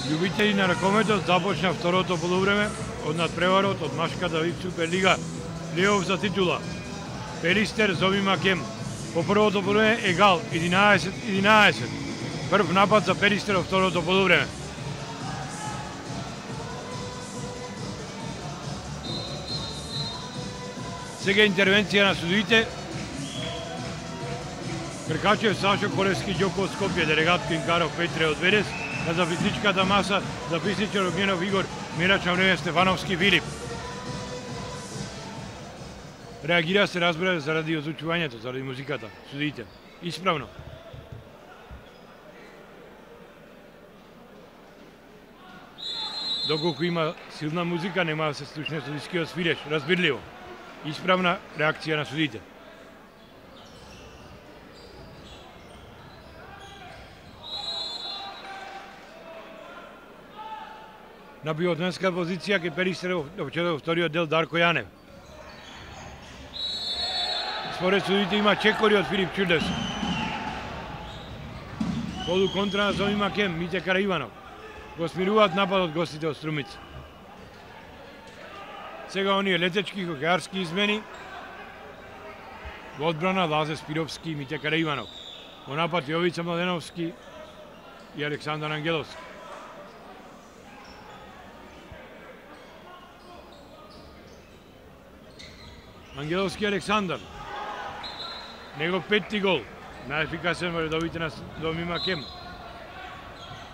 Љубители на ракометот започна второто полувреме од надпреварот од машката вип Суперлига, плейоф за титула. Пелистер Зови Макем по првото полувреме егал 11-11. Прв напад за Пелистер во второто полувреме. Сега интервенција на судиите. Кркачев Сашо Колевски Ѓоко од Скопје, делегат Кинкаров Петре од Ведес, на записничката маса записничар Огненов Игор, мирач на време Стефановски Филип. Реагира се, разбира, заради озвучувањето, заради музиката, судиите. Исправно. Доколку има силна музика, нема да се слушне судискиот свиреш, разбирливо. Исправна реакција на судиите. На пивотменска позиција ке Пелистер во вториот дел Дарко Јанев. Според судите има чекори од Филип Чудес. Полу контра на Зови Макем, Мите Караиванов. Го смируваат нападот гостите од Струмица. Сега оние летечки хокејарски измени. Во одбрана Лазе Спировски и Мите Караиванов. Во напад Јовица Младеновски и Александар Ангеловски. Ангеловски Александар. Негов петти гол. Најефикасен во редовите на Зови Макем.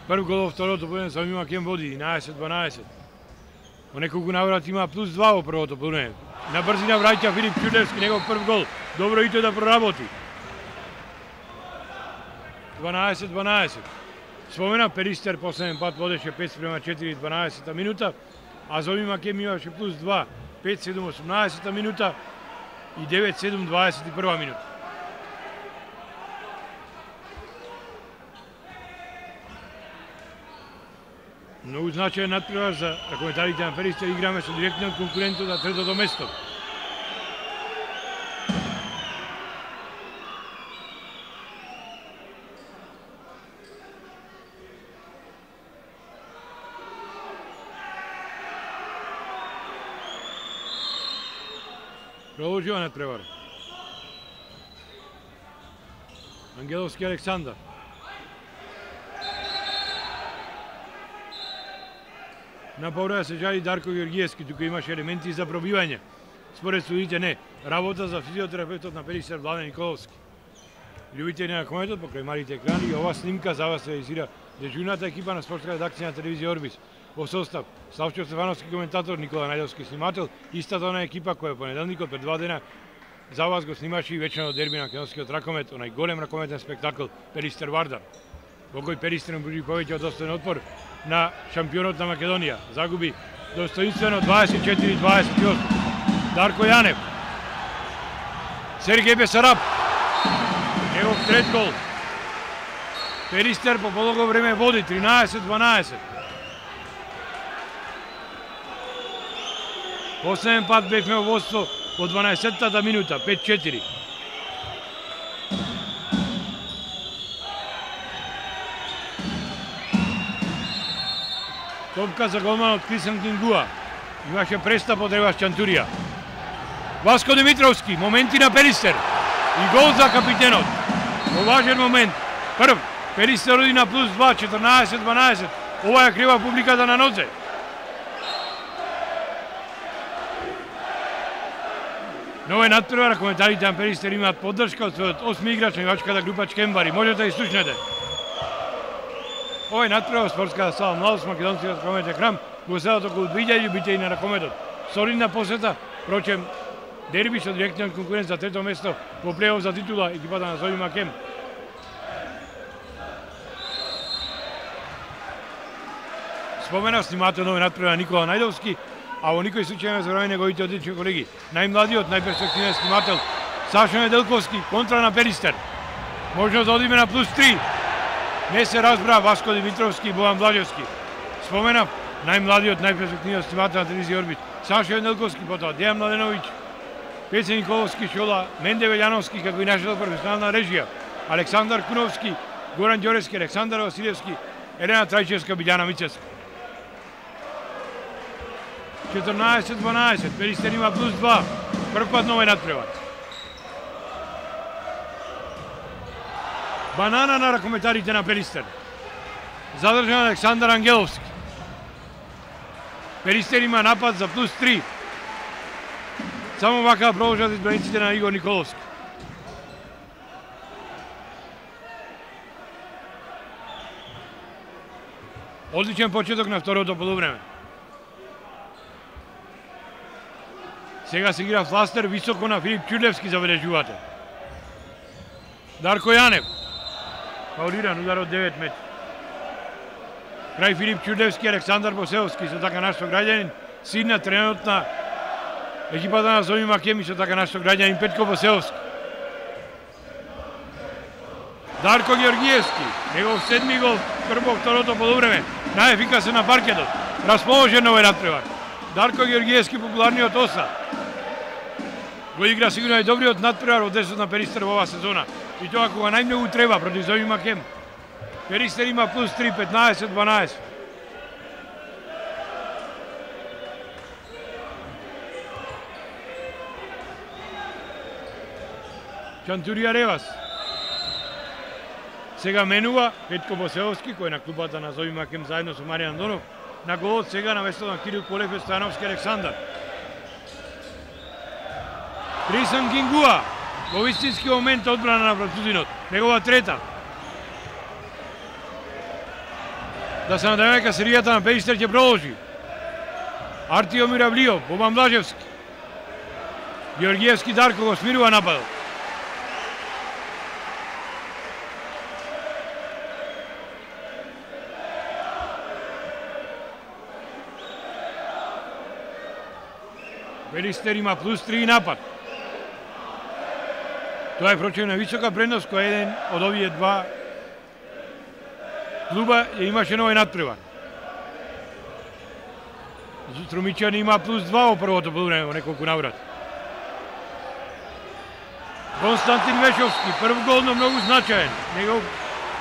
Прв гол во второто полувреме Зови Макем води 11-12. Во неколку наврати има плюс 2 во првото полувреме. На брзина враќа Филип Чудевски, негов прв гол. Добро и тој да проработи. 12-12. Спомена Пелистер последен пат водеше 5-4 12 минута, а Зови Макем имаше плюс 2 5-7 18 минута и 9-7 21 минута. Многу значаен надпревар за ракометарите на Пелистер, играме со директниот конкурент за третото место. Продолжува надпревар. Ангеловски Александар. На повреда се жали Дарко Георгиевски, тука имаше елементи за пробивање. Според судите не. Работа за физиотерапевтот на Пелистер Владен Николовски. Љубители на ракометот покрај малите екрани, ова снимка за вас реализира дежурната екипа на спортска редакција на телевизија Орбис. Во состав Славчо Стефановски коментатор, Никола Најдовски снимател, истата она екипа која понеделникот пред 2 дена за вас го снимаше и вечерно дерби на македонскиот ракомет, онај голем ракометен спектакл Пелистер Вардар. Во кој Пелистер пруži повеќе од достоен отпор на шампионот на Македонија. Загуби достоинствено 24-28. Дарко Јанев. Сергеј Бесараб. Негов трет гол. Пелистер по полого време води 13-12. Последен пат бевме во водство во 12-та минута, 5-4. Топка за голманот Крисен Кингуа. Имаше престап од Евас Чантурија. Васко Димитровски, моменти на Пелистер. И гол за капитенот. Во важен момент. Прв, Пелистер оди на плюс 2, 14-12. Ова ја крива публиката на нозе. Нове надпревар, коментарите на Пелистер имаат поддршка од својот 8 играч на играчката група Чкембари. Можете да слушнете. Овој надпревар спортската сала Младост македонскиот ракометен храм го седат околу 2000 љубители на ракометот. Солидна посета, прочем дерби со директниот конкурент за трето место во плейоф за титула екипата на Зови Макем. Спомена снимател нови надпревар Никола Најдовски, а во никој случај не забравяме неговите одлични колеги. Најмладиот, најперспективен снимател Сашо Неделковски, контра на Пелистер. Можно да одиме на плюс 3. Не се разбра Васко Димитровски и Бојан Блажевски. Споменав најмладиот, најперспективниот снимател на телевизија Орбит Сашо Неделковски, потоа Дејан Младеновиќ, Пеце Николовски, Шола, Менде Велјановски, како и нашата професионална режија, Александар Куновски, Горан Ѓоревски, Александар Василевски, Елена Трајчевска, Билјана Мицевска. 14-12, Перистер има плюс 2. Прв пат новој надпревар. Банана на ракометарите на Перистер. Задржан Александар Ангеловски. Перистер има напад за плюс 3. Само вака продолжат избраниците на Игор Николовски. Одличен почеток на второто полувреме. Сега се игра фластер високо на Филип Ќурлевски, забележувате. Дарко Јанев. Фаулиран удар од 9 метри. Крај Филип Ќурлевски, Александар Босеовски, со така нашто граѓанин, син на тренерот на екипата на Зови Макем, со така нашто граѓанин Петко Босеовски. Дарко Георгиевски, негов 7 гол, прво второто полувреме, најефикасен на паркетот, расположен овој надпревар. Дарко Георгиевски, популарниот оса. Го игра сигурно и добриот надпревар од 10 на Перистер во оваа сезона. И тоа кога најмногу треба против Зови Макем. Перистер има плюс 3, 15-12. Чантурија Ревас. Сега менува Петко Босеовски, кој е на клубата на Зови Макем заедно со Маријан Донов. На голот сега на место на Кирил Колев е Стојановски Александар. Крисан Кингуа, во вистински момент одбрана на французинот, негова трета. Да се надеваме дека серијата на Перистер ќе продолжи. Артиомир Авлиов, Бобан Блажевски. Георгиевски Дарко го смирува нападот. Перистер има плюс 3 напад. Тоа е прочем висока предност која еден од овие два клуба ја имаше новој надпревар. Струмичани има плюс 2 во првото полувреме во неколку наврати. Константин Вешовски, прв гол, но многу значаен. Негов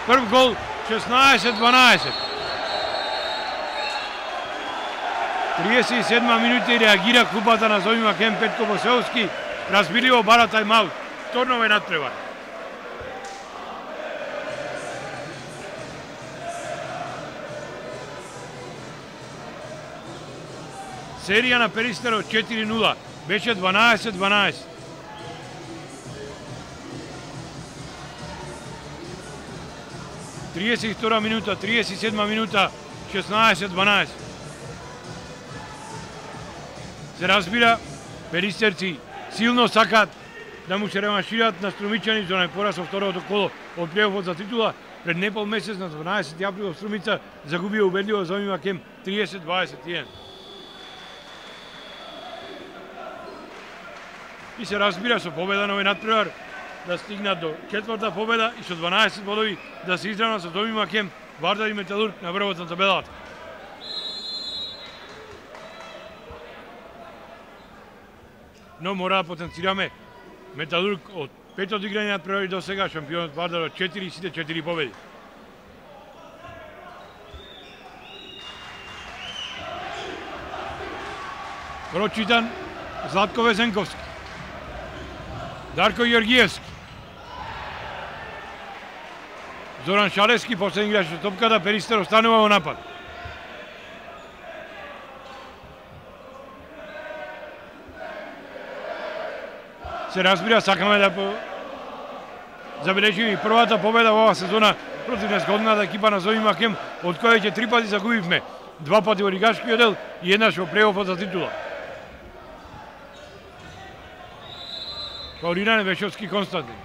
прв гол 16-12. 37 минути реагира клубата на Зови Макем, Петко Босеовски, разбиливо бара тајмаут. Вторно е надпревар. Серија на Перистер од 4-0, беше 12-12. Триесет минута, 37 минута, 16-12. Се разбира, перистерци силно сакат да му се реваншират на Струмичани за најпораз во второто коло од плейофот за титула. Пред непол месец на 12 април во Струмица загубија убедливо Зови Макем 30-21. И се разбира со победа на овој надпревар да стигнат до четврта победа и со 12 бодови да се изравнат со Зови Макем, Вардар и Металург на врвот на табелата. Но мора да потенцираме Металург од 5 одиграни надпревари до сега, шампионот Вардар од 4 и сите 4 победи. Прочитан Златко Везенковски. Дарко Георгиевски. Зоран Шалевски, последен играч од топката, Перистер останува во напад. Се разбира, сакаме да забележиме и првата победа во оваа сезона против незгодната екипа на Зови Макем, од која ќе 3 пати загубивме, 2 пати во лигашкиот дел и еднаш во плейофот за титула. Фаулиран Вешовски Константин.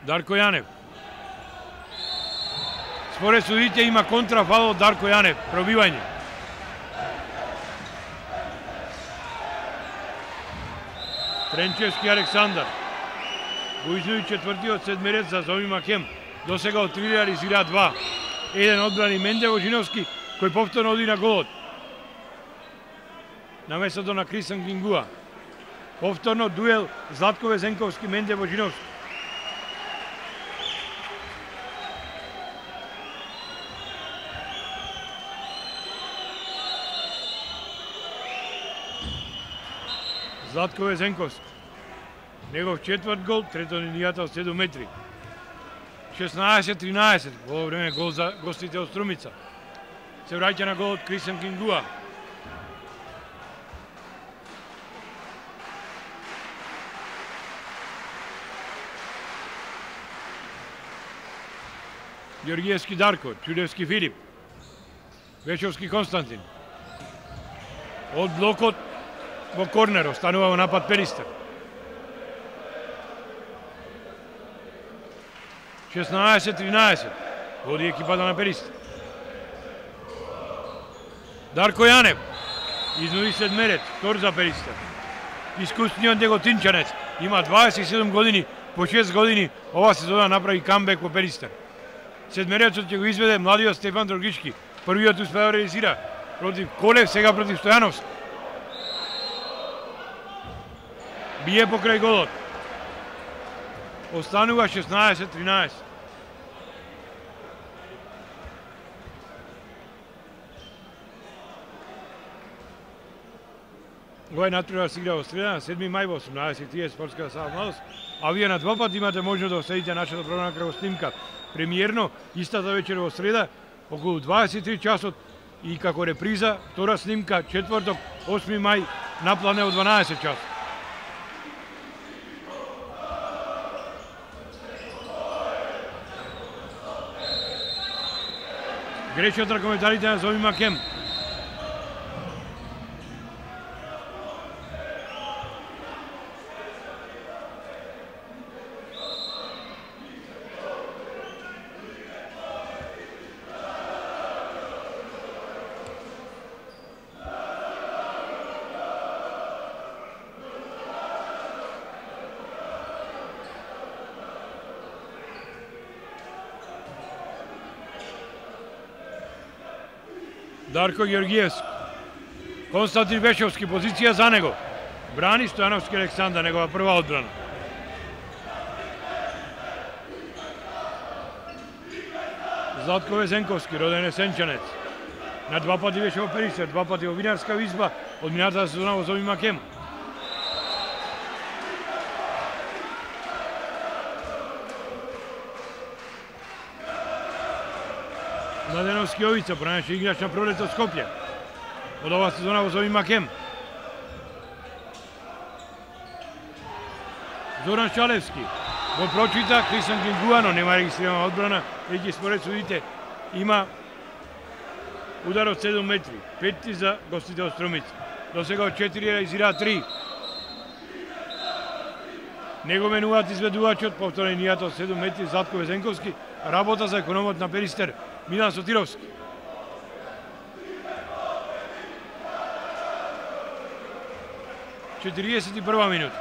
Дарко Јанев. Според судите има контрафал од Дарко Јанев, пробивање. Тренчевски Александар. Го изуди четвртиот седмерец за Зови Макем. До сега од 3 реализира 2. Еден одбрани Менде Вожиновски, кој повторно оди на голот. На местото на Крисан Кингуа. Повторно дуел Златко Везенковски, Менде Божиновски. Златко Везенковски. Негов четврт гол, трето линијата од 7 метри. 16-13, во ово време гол за гостите од Струмица. Се враќа на голот Крисен Кингуа. Ѓоргиевски Дарко, Ќулевски Филип, Вешовски Константин. Од блокот во корнер останува во напад Перистер. 16-13, води екипата на Перистер. Дарко Јанев, изнуи седмерец, втор за Перистер. Искусниот неготинчанец, има 27 години, по 6 години ова сезона направи камбек во Перистер. Седмерецот ќе го изведе младиот Стефан Дрогички. Првиот успеа да реализира против Колев, сега против Стојановски. Бие покрај голот. Останува 16-13. Овој натпревар се игра во среда на 7 мај во 18:30 спортска сала Младост, а вие на два пат имате можност да оставите нашата програма како снимка премиерно истата вечер во среда околу 23 часот и како реприза втора снимка четврток 8 мај на плане од 12 часот. Грешот на коментарите на Зови Макем. Дарко Ѓоргиевски, Константин Вешовски, позиција за него. Брани Стојановски Александар, негова прва одбрана. Златко Везенковски, роден есенчанец. На два пати беше во Перистер, два пати во винарска изба од минатата сезона во Зови Макем. Младеновски Овица, бранеше играч на Пролет од Скопје. Од ова сезона во Зови Макем. Зоран Шалевски. Во прочита Крисен Кингуа, но нема регистрирана одбрана, веќе според судите има удар од 7 метри. 5 за гостите од Струмица. До сега од 4 реализира 3. Него менуваат изведувачот, повторно линијата од 7 метри, Златко Везенковски, работа за економот на Перистер, Милан Сотировски. Четириесет и прва минута.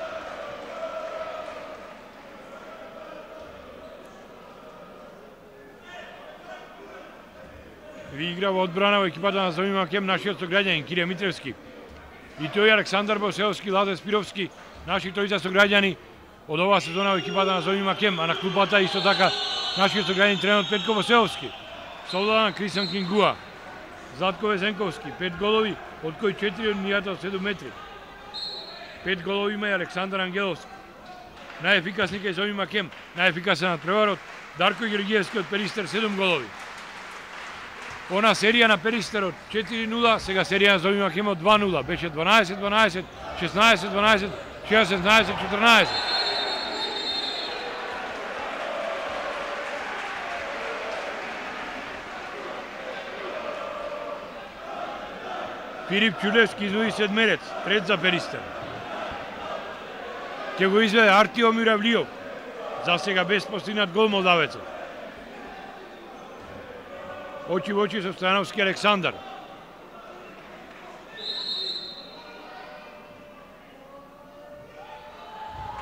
Ви игра во одбрана во екипата на Зови Макем нашиот сограѓанин Кирија Митревски. И тој Александар Боселовски, Ладе Спировски, наши тројца сограѓани од оваа сезона во екипата на Зови Макем, а на клупата исто така нашиот сограѓанин тренер Петко Боселовски. Солдан Крисен Кингуа, Златко Везенковски, 5 голови, од кои 4 од линијата од 7 метри. 5 голови има и Александар Ангеловски. Најефикасник е Зови Макем, најефикасен надпреварот Дарко Ѓоргиевски од Перистер, 7 голови. Она серија на Перистер од 4-0, сега серија на Зови Макем од 2-0, беше 12-12, 16-12, 16-14. Филип Ќулевски изнуи седмерец, трет за Перистер. Ќе го изведе Артиом Јуравлиов, за сега без постигнат гол молдавецот. Очи во очи со Стојановски Александар.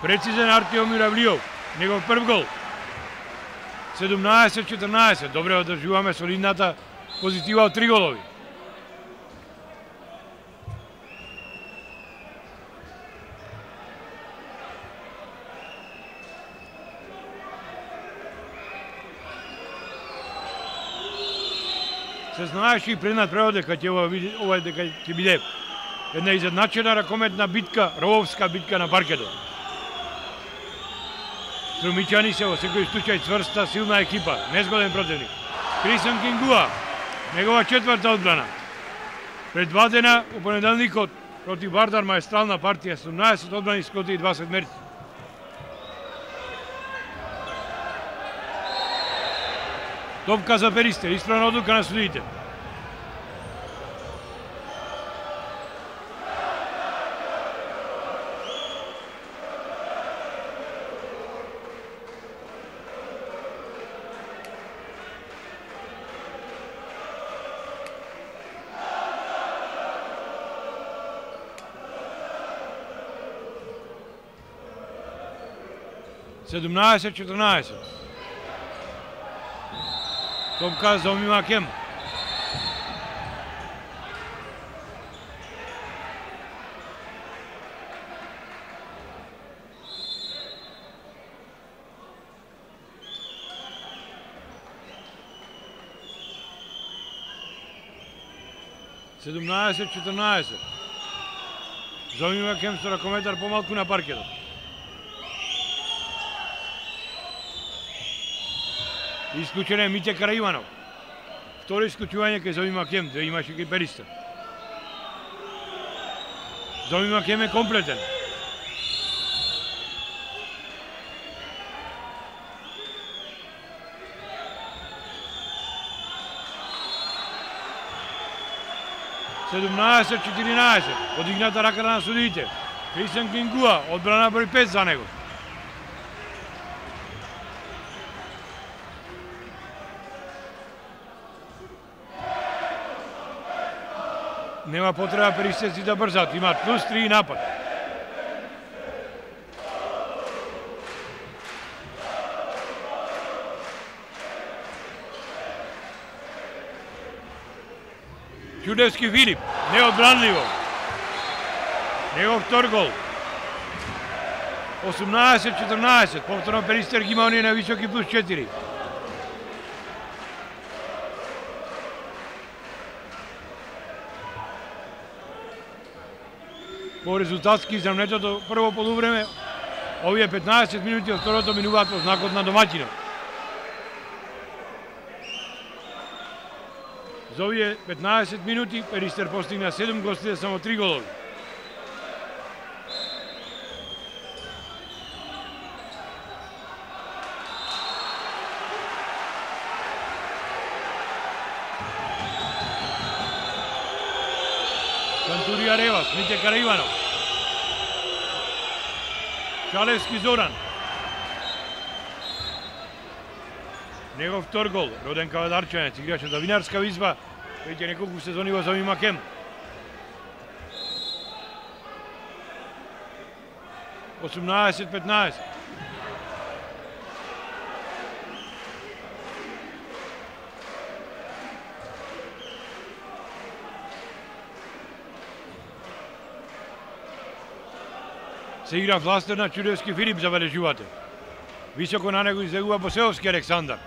Прецизен Артиом Јуравлиов, негов прв гол. 17-14, добре одржуваме солидната позитива од 3 голови. Се знаеше и преднад превод дека ќе биде една изедначена ракометна битка, рововска битка на паркетот. Струмичани се во секој случај цврста, силна екипа, незгоден противник. Крисен Кингуа, негова четврта одбрана. Пред 2 дена, у понеделникот, против Вардар, маестрална партија, 17 одбрани скоти и 2 седмерци. Топка за Перистер, исправна одлука на судиите. Седумнаесет 14. Топка за Оми Макем. Седумнаесет 14. За Оми Макем со ракометар помалку на паркетот. Исклучен е Мите Караиванов. Второ исклучување кај Зоми Макем, да имаше кај Перистер. Зоми Макем е комплетен. Седумнаесет 14. Подигната раката на судиите. Крисен Кингуа, одбрана број 5 за него. Нема потреба перистерци да брзат, имаат плюс 3 напад. Чудевски Филип, неодбранливо. Негов втор гол. 18-14, повторно Перистер ги има оние на високи плюс 4. По резултатски изравнетото прво полувреме, овие 15 минути од второто минуваат во знакот на домаќинот. За овие 15 минути Перистер постигна 7 гостите, само 3 голови. Кантурија Ревас, Мите Караиванов. Шалевски Зоран. Негов втор гол, роден кавадарчанец, играше за Винарска Визба, веќе неколку сезони во Зоми Макем. Осумнаесет 15. Се игра властер на Чудевски Филип, забележувате. Високо на него излегува Босеовски Александар.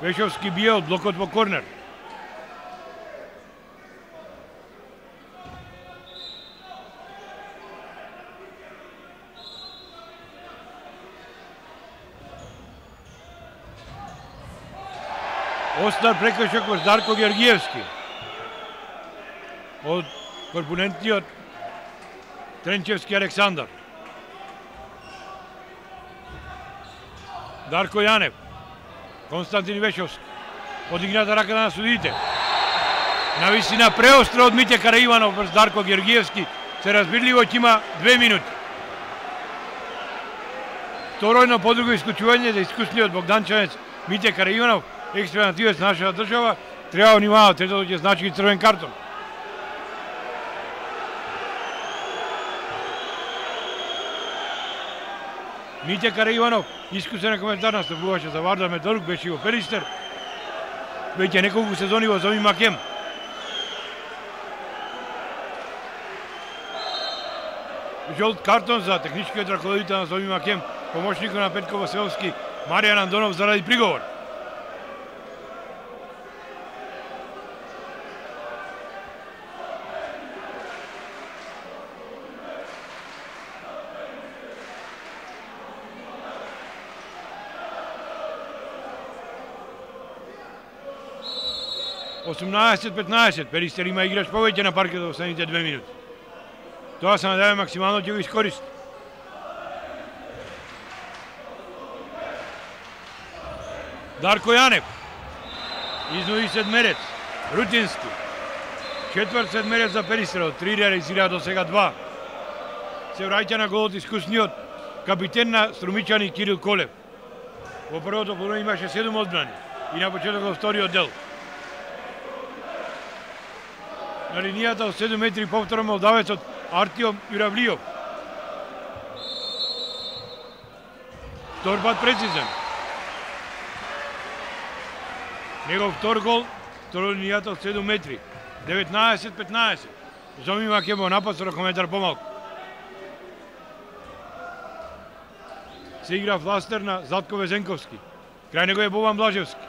Вешовски бие од блокот во корнер. Остар прекршок во Дарко Георгиевски. Од корпулентниот Тренчевски Александар. Дарко Јанев, Константин Вешовски, подигната рака на судиите. На висина преостро од Мите Караиванов врз Дарко Георгиевски, се разбирливо ќе има 2 минути. Второјно подруго исклучување за искусниот богданчанец Мите Караиванов, експериментивец на нашата држава, треба внимава, третото ќе значи и црвен картон. Мите Караиванов, искусен коментар, настапуваше за Вардар Металург, беше и во Перистер. Веќе неколку сезони во Зоми Макем. Жолт картон за техничкиот раководител на Зоми Макем, помошникот на Петко Василовски, Маријан Андонов заради приговор. 18-15, Перистер има играч повеќе на паркет во останите 2 минути. Тоа се надеваме максимално ќе го искористи. Дарко Јанев, изнуди седмерец, рутински. Четврт седмерец за Перистерот, 3 реализира до сега 2. Се враќа на голот искусниот капитен на Струмичани Кирил Колев. Во првото полувреме имаше 7 одбрани и на почеток во вториот дел. На линијата од 7 метри повторно молдавецот Артиом Јуравлијов. Втор пат прецизен. Негов втор гол, второ линијата од 7 метри. 19-15. Зоми Макемо напад со ракометар помалку. Се игра фластер на Златко Везенковски. Крај него е Бован Блажевски.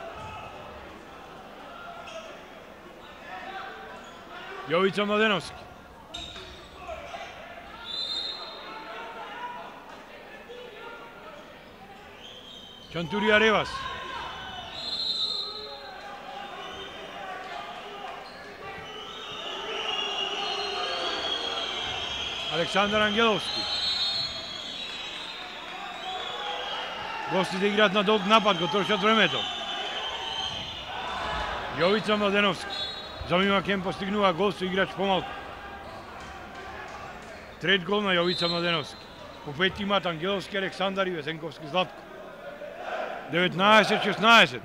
Јовица Младеновски. Чантурија Ревас. Александар Ангеловски. Гостите играат на долг напад, го трошат времето. Јовица Младеновски. Зоми Макен постигнува гол со играч помалку. Трет гол на Јовица Младеновски. По 5 имат Ангеловски, Александар и Везенковски Златко. 19-16.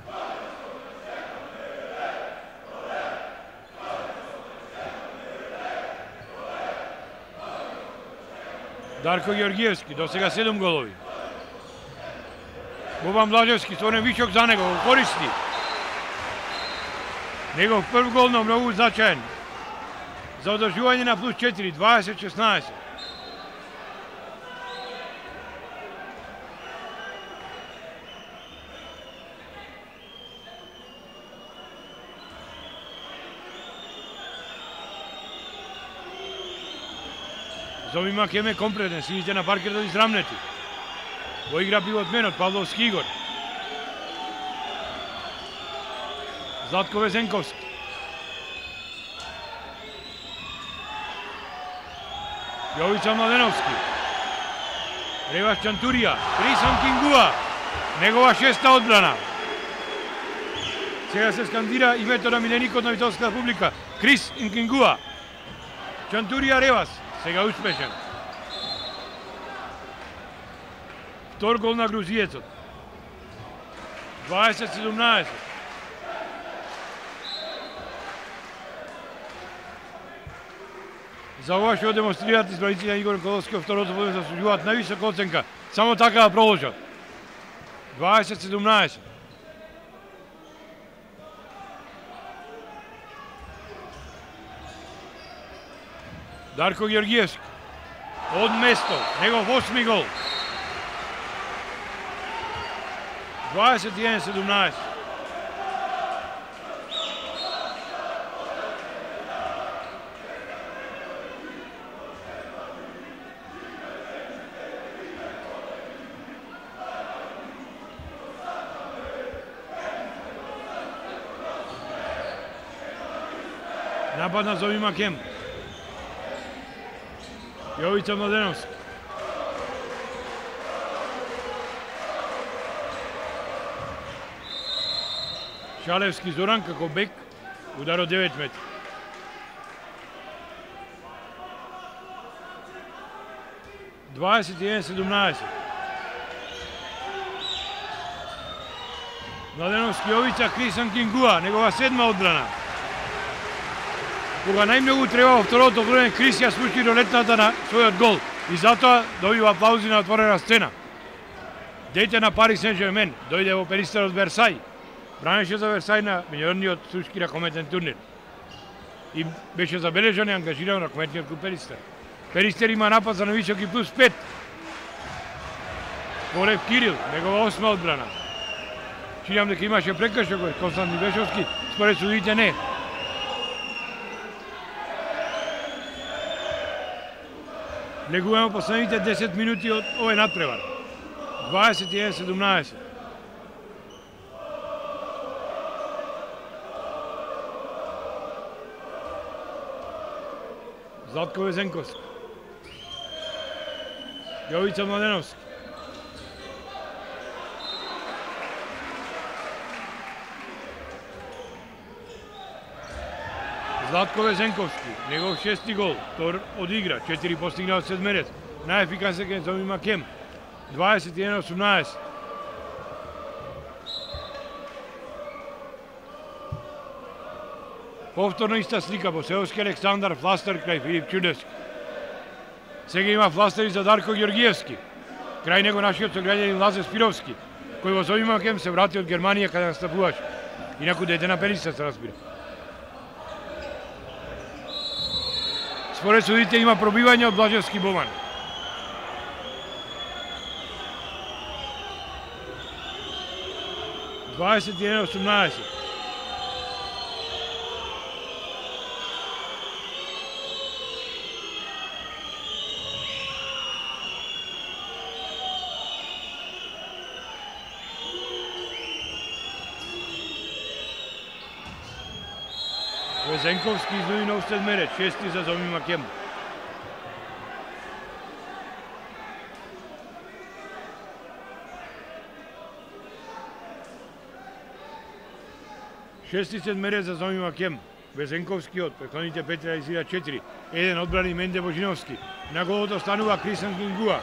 Дарко Ѓоргиевски, до сега 7 голови. Бобан Блажевски, створен вишок за него, го користи. Негов прв гол, но многу значаен. За одржување на плюс 4, 20-16. Зоми Макеме компретен, сидите на паркетот израмнети. Во игра пивотменот Павловски Игор. Златко Везенковски. Јовица Младеновски. Ревас Чантурија. Крисан Кингуа. Негова 6-та одбрана. Сега се скандира името на миленикот на Витолска публика. Крис Кингуа. Чантурија Ревас. Сега успешен. Втор гол на грузиецот. 20-17. За ова што демонстрираат избраниците на Игор Николовски во второто полувреме заслужуваат највисока оценка. Само така да продолжат. 20-17. Дарко Ѓоргиевски. Од место, негов 8-ми гол. 21-17. Напад на Зоми Макем. Јовица Младеновски. Шалевски Зоран како бек, удар од 9 метри. (21-17). Младеновски Јовица, Крисан Кингуа, негова 7-ма одбрана. Кога најмногу треба во второто време, Крис ја спушти ролетната на својот гол и затоа добива аплаузи на отворена сцена. Дете на Пари Сен-Жермен дојде во Перистер од Версај. Бранеше за Версај на меѓународниот турски ракометен турнир. И беше забележан и ангажиран ракометниот клуб Перистер. Перистер има напад за нависоки плюс 5. Колев Кирил, негова 8-ма одбрана. Чинам дека имаше прекршок кој Константин Бешовски, според судите не. Легуваме последните 10 минути од овој надпревар. 21-17. Zlatko Vezenkovski. Jovica Mladenovski. Zlatko Vezenkovski, njegov 6. gol, Tor odigra, 4 postignao sedmerec, najefikasnijeg je Zomi Makem, 21-18. Повторно иста слика, Босеовски Александар, фластер крај Филип Чудевски. Сега има фластери за Дарко Георгиевски. Крај него нашиот сограѓанин Лазе Спировски, кој во Zomi Makem се врати од Германија каде настапуваше. Инаку дете на Периса се разбира. Според судите има пробивање од Блажевски Боман. (21-18). Vezenkovski iznуди нов седмерец, 6 за Zomi Makem. Шести седмерец за Zomi Makem. Vezenkovski од претходните 5 реализира 4. Еден одбрани Менде Божиновски. На голот останува Крисан Кингуа.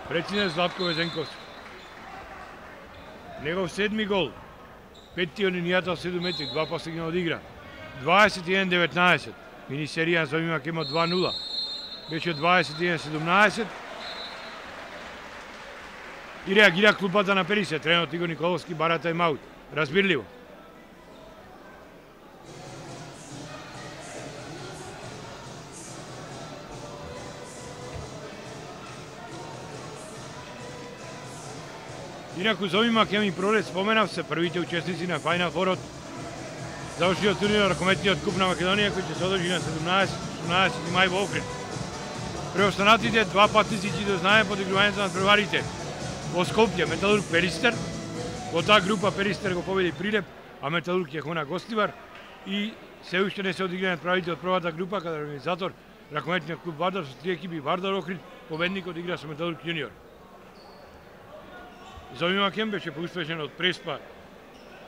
Преценет Златко Везенковски. Негов 7. гол. 5 од линијата 7 метри, 2 постигна од игра. 21-19. Мини серија Zomi Makem од 2-0. Беше 21-17. И реагира клупата на Перисе. Тренерот Игор Николовски бара тајмаут. Разбирливо. Инаку Zomi Makem и проред споменав се првите учесници на Final Four од завршиот турнир на ракометниот куп на Македонија кој ќе се одржи на 17-18 мај во Охрид. Преостанатите два патници ќе дознаеме подигрувањето на преварите во Скопје Металург Перистер. Во таа група Перистер го победи Прилеп, а Металург ќе хона гостивар и се уште не се одиграат правите од првата група каде организатор ракометниот клуб Вардар со 3 екипи Вардар Охрид, победникот игра со Металург јуниор. Zomi Makem беше поуспешен од Преспа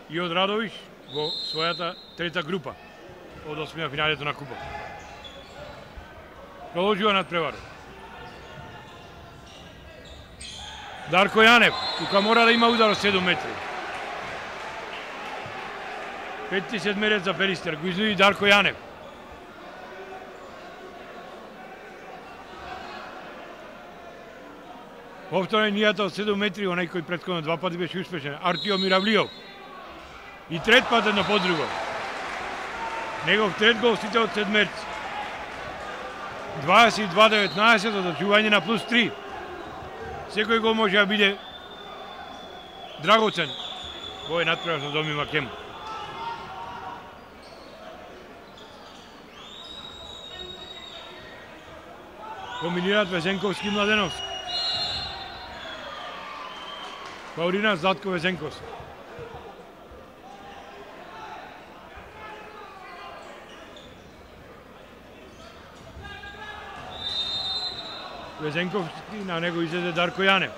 и од Радовиш во својата трета група од 8 финалето на купа. Продолжува над преварот. Дарко Јанев, тука мора да има удар од 7 метри. 5 седмерец за Перистер, го изнуди Дарко Јанев. Повторно линијата од 7 метри, онај кој претходно 2 пати беше успешен, Артиом Миравлиов. И трет пат едно по друго. Негов трет гол сите од седмерци. 22-19, одочување на плюс 3. Секој гол може да биде драгоцен. Во е надпревар на Zomi Makem. Комбинираат Везенковски и Младеновски. Паулина Златко Везенковски. Везенковски, на него излезе Дарко Јанев.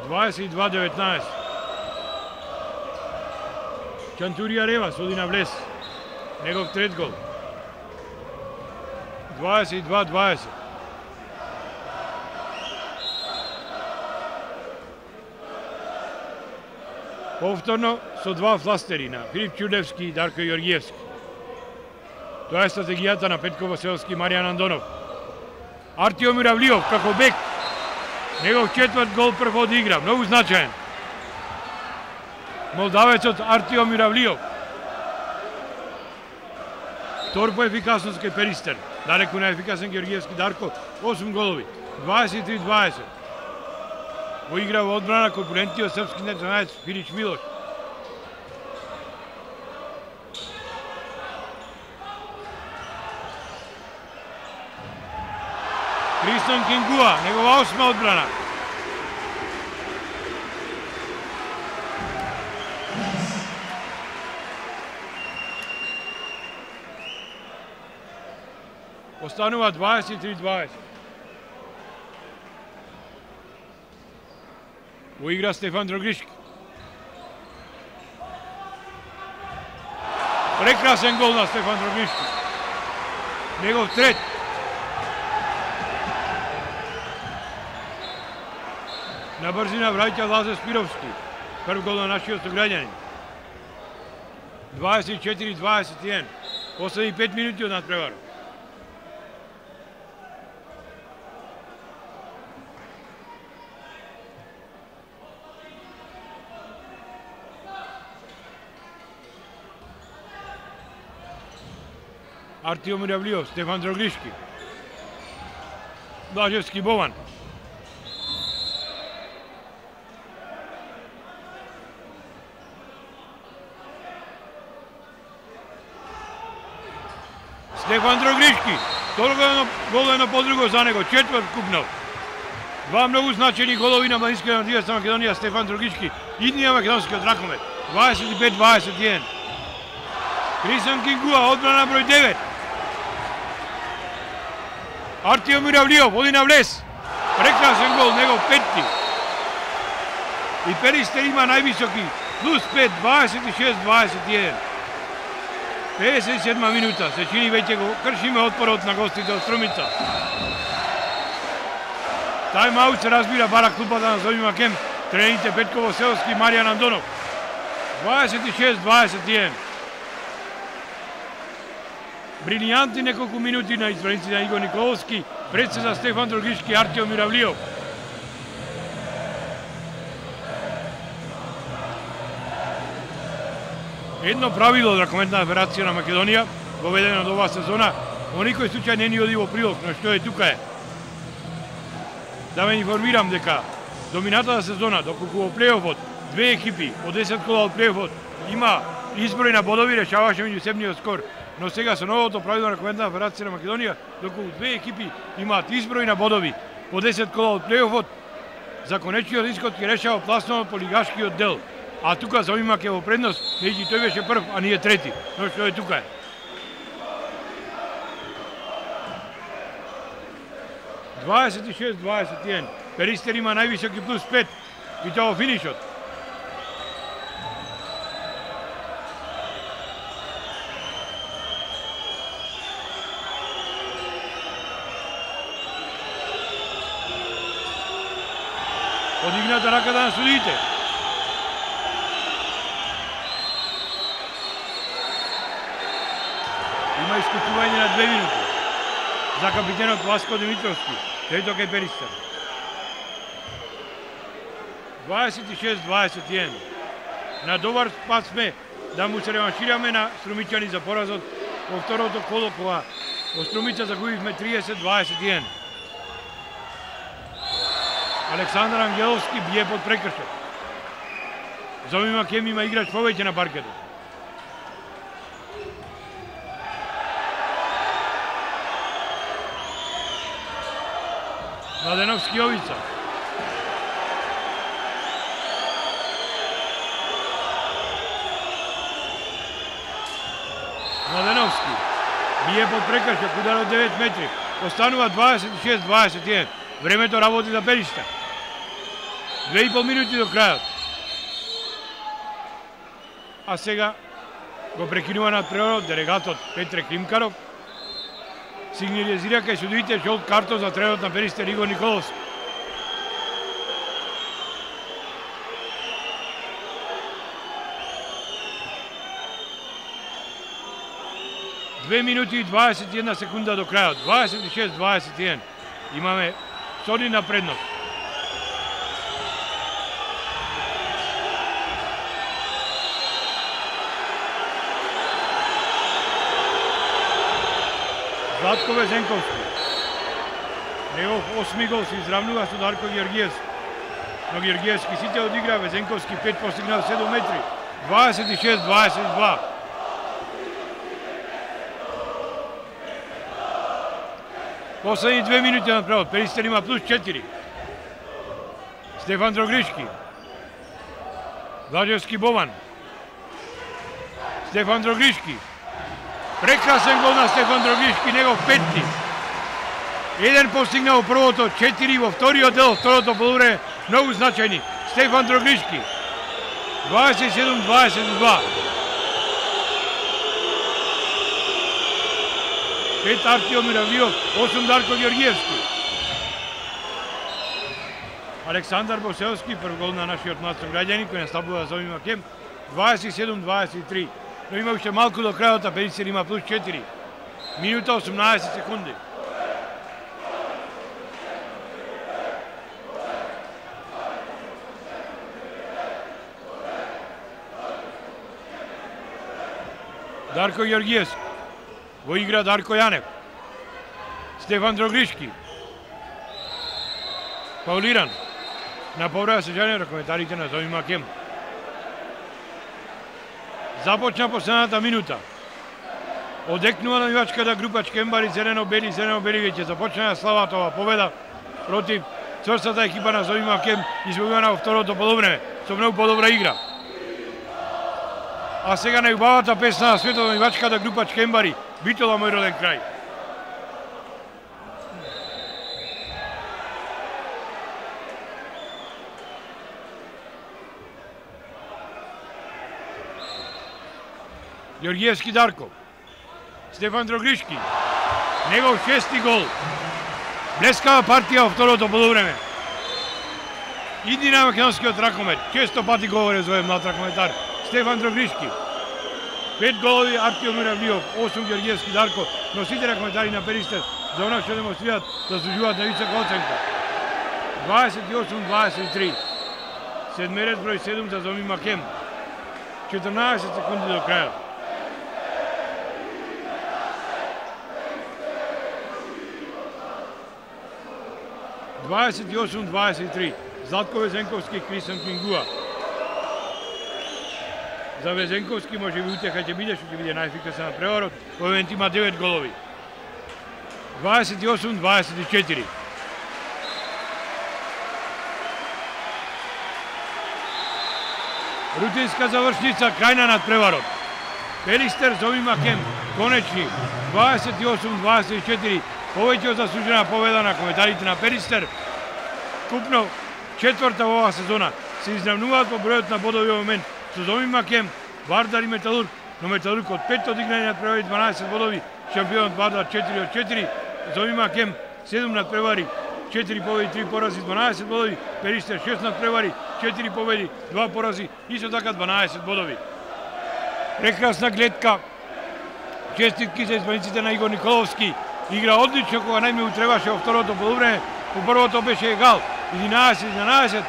(22-19). Чантурија Рева соди на влез. Негов трет гол. 22-20. Повторно со два фластери на Филип Чудевски и Дарко Јоргиевски. Тоа е стратегијата на Петко Василевски и Маријан Андонов. Артиом Миравлиов како бек. Негов четврт гол прв од игра, многу значаен. Молдавецот Артиом Миравлиов. Втор по ефикасност кај Перистер. Далеку најефикасен Георгиевски Дарко, 8 голови, 23-20. Во игра во одбрана конкурентиот српски националец Филич Милош. Кристијан Кингуа, негова 8 одбрана. Останува 23-20. Во игра Стефан Дрогишки. Прекрасен гол на Стефан Дрогишки. Негов трет. На брзина враќа Лазе Спировски. Прв гол на нашиот сограѓанин. 24-21. Последни 5 минути од надпреварот. Артиом Муравлиов, Стефан Дрогишки. Блажевски Бован. Стефан Дрогишки. Толку гол едно подруго за него, четврт купнал. Два многу значени голови на младинската национална Македонија, Стефан Дрогишки, идниот македонскиот ракомет. 25-21. Крисан Кингуа, одбрана број 9. Артиом Муравлиов, оди на влез. Прекрасен гол, негов петти. И Перистер има највисоки, плюс 5, 26-21. 57 минута, се чини веќе го кршиме отпорот на гостите од Струмица. Тајм-аут се разбира бара клупата на Зови Макем, трените Петко Селски и Маријан Андонов. 26-21. Брилијантни неколку минути на избраниците на Игор Николовски, пред се за Стефан Дрогишки и Артиом Муравлиов. Едно правило од Ракометната федерација на Македонија, воведено од оваа сезона, во никој случај не ни оди во прилог, но што е тука е. Да ве информирам дека доминатата сезона, доколку во плейофот, две екипи од 10 кола од плейофот има изброј на бодови, решаваше меѓусебниот скор. Но сега со новото правило на Ракометната федерација на Македонија, доколку две екипи имаат изброј на бодови по 10 кола од плейофот, за конечниот исход ќе решава пласно по лигашкиот дел. А тука Зови Мак е во предност, меѓу тој беше прв, а ние трети. Но што е тука е. – 26-21. Перистер има највисоки плюс 5. И тоа во финишот. Подигната раката на судиите. Има исклучување на 2 минути за капитенот Васко Димитровски, тој кај Перистер. 26-21. На добар пат сме да му се реваншираме на струмичани за поразот во второто коло, кога во Струмица загубивме 30-21. Александар Ангеловски бие под прекршок. Зови Макем има играч повеќе на паркетот. Младеновски Јовица. Младеновски бие под прекршок, удар од 9 метри. Останува 26-21. Времето работи за Перистер. 2,5 минути до крајот. А сега го прекинува надпреварот делегатот Петре Климкаров. Сигнализира кај судиите жолт картон за тренерот на Перистер Игор Николовски. Две минути и 21 секунда до крајот. 26-21. Имаме солидна предност. Златко Везенковски. Негов 8 гол се изравнува со Дарко Георгиевски. Но Георгиевски сите одигра, Везенковски 5 постигнал 7 метри. 26-22. Последни 2 минути на превод. Перистер има плюс 4. Стефан Дрогишки. Блажевски Бован. Стефан Дрогишки. Прекрасен гол на Стефан Дрогишки, негов петти. Еден постигнал првото, 4 во вториот дел, второто полувреме, многу значајни. Стефан Дрогришки, 27-22. 5 Артиомир Авдиов, 8 Дарко Георгиевски. Александар Боселски, прв гол на нашиот млад сограѓанин кој настапува за овим Кем, 27-23. Но има уште малку до крајот, а Пелистер има плюс 4. Минута 18 секунди. Дарко Георгиевски. Во игра Дарко Јанев. Стефан Дрогришки. Паулиран. На повреда се жале коментарите на Зови Макем. Започна последната минута. Одекнува навивачката група Чкембари, зелено-бели веќе започна славата ова победа против цврстата екипа на Зови Макем, извојувана во второто полувреме со многу подобра игра. А сега најубавата песна на светот на навивачката група Чкембари, Битола мој роден крај. Георгиевски Дарко. Стефан Дрогришки. Негов 6-ти гол. Блескава партија во второто полувреме. Иди на македонскиот ракомет. Често пати говори за овој млад ракометар. Стефан Дрогришки. 5 голови Артиомир Авдиов, 8 Георгиевски Дарко, но сите ракометари на Пелистер за она што демонстрираат заслужуваат на висока оценка. 28-23. Седмерец број 7 за Зови Макем. 14 секунди до крајот. (28-23) Златко Везенковски, Кристијан Кингуа. За Везенковски може би утеха ќе биде, што ќе биде најефикасен на преварот. Во момент има 9 голови. 28-24. Рутинска завршница, крајна над преварот. Пелистер Зови Макем, конечни, 28-24. Повеќе од заслужена победа на кометарите на Пелистер. Купно, четврта во оваа сезона, се изравнуваат по бројот на бодови во момент со Зови Макем, Вардар и Металург, но Металург од 5 одигнани над превари 12 бодови, шампионот Вардар 4 од 4, Зови Макем 7 над превари, 4 победи, 3 порази, 12 бодови, Пелистер 6 над превари, 4 победи, 2 порази, исто така 12 бодови. Прекрасна гледка, честитки за избраниците на Игор Николовски, игра одлично кога најмногу требаше во второто полувреме, по првото беше егал, 11-11,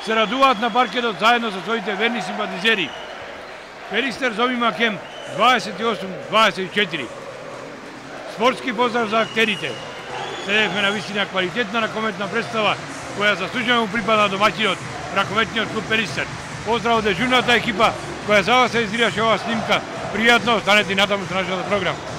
се радуваат на паркетот заедно со своите верни симпатизери. Пелистер Зови Макем 28-24. Спортски поздрав за актерите. Следевме на вистина квалитетна ракометна представа која заслужено му припада домаќинот, ракометниот клуб Пелистер. Поздрав од дежурната екипа која за вас се издрираше оваа снимка. Пријатно, останете и натаму со нашата програма.